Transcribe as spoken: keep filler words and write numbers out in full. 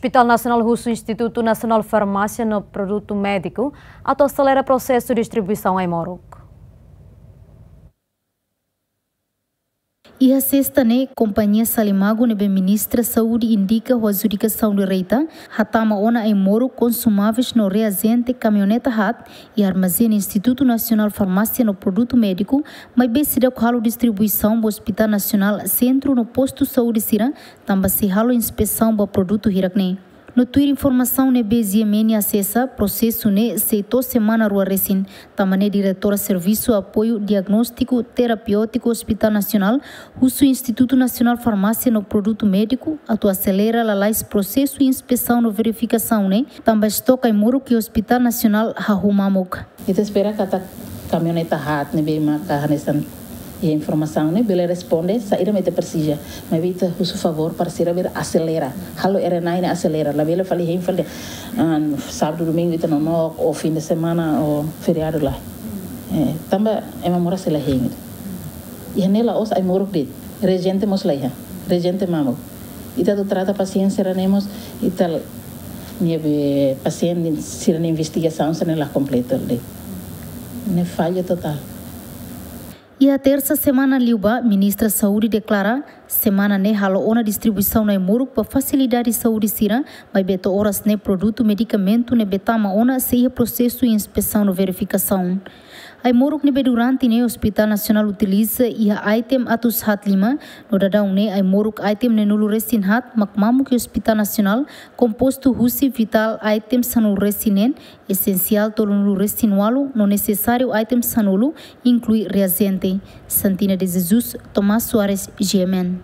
Hospital Nasionál husu Institutu Nasionál Farmásia no Produtu Médiku atu aselera prosesu distribuisaun ai-moruk. Iha sesta ne'e, kompañia Salimagu ne'ebé Ministra Saúde indika ho adjudikasaun direta, hatama ona ai-moruk, konsumáveis no reajente kamioneta haat iha armazén Institutu Nasionál Farmásia no Produtu Médiku, maibé seidauk halo distribuisaun ba Hospital Nasionál, sentru no postu saúde sira, tanba sei halo inspesaun ba produtu hirak-ne'e. No tuir informasaun ne'ebé G M N asesa, prosesu ne'e sei to'o semana rua resin, tanba ne'e diretora Servisu Apoiu Diagnóstiku Terapiótiku Hospital Nasionál husu Institutu Nasionál Farmásia no Produtu Médiku atu aselera lalais prosesu inspesaun no verifikasaun ne'e, tanba estoke ai-moruk iha Hospital Nasionál hahú mamuk. Ita espera katak kamioneta haat ne'ebé maka hanesan iha informasaun ne'e bele responde saida mak ita presiza. Maibé ita husu favór para sira bele aselera. Halo R N I ne'e aselera. Labele fali hein fali, ah, sábadu, domingu ita nonook, ou fim de semana, ou feriadu lae. Eh, tanba ema moras sei la hein. Iha ne'e la'ós ai-moruk de'it. Reajente mós la iha. Reajente mamuk. Ita atu trata pasiente sira-ne'e mós, ita, nia be pasiente sira-nia investigasaun sira-ne'e la kompletu de'it. Ne'e falla totál. Iha tersa semana liubá, Ministra Saúde deklara, semana ne'e halo ona distribuisaun ai-moruk ba fasilidade saúde sira, maibé to'o oras ne'e produtu medikamentu ne'ebé tama ona sei iha prosesu inspesaun no verifikasaun. Ai-moruk ne'ebé durante ne'e Hospital Nasionál utiliza iha item atus haat lima, no daudaun ne'e ai-moruk item neenulu resin haat mak mamuk iha Hospital Nasionál, kompostu husi vital item sanulu resin neen, esensiál tolunulu-resin-ualu no nesesáriu item sanulu, inklui reajente. Santina de Jesus, Tomás Soares, G M N.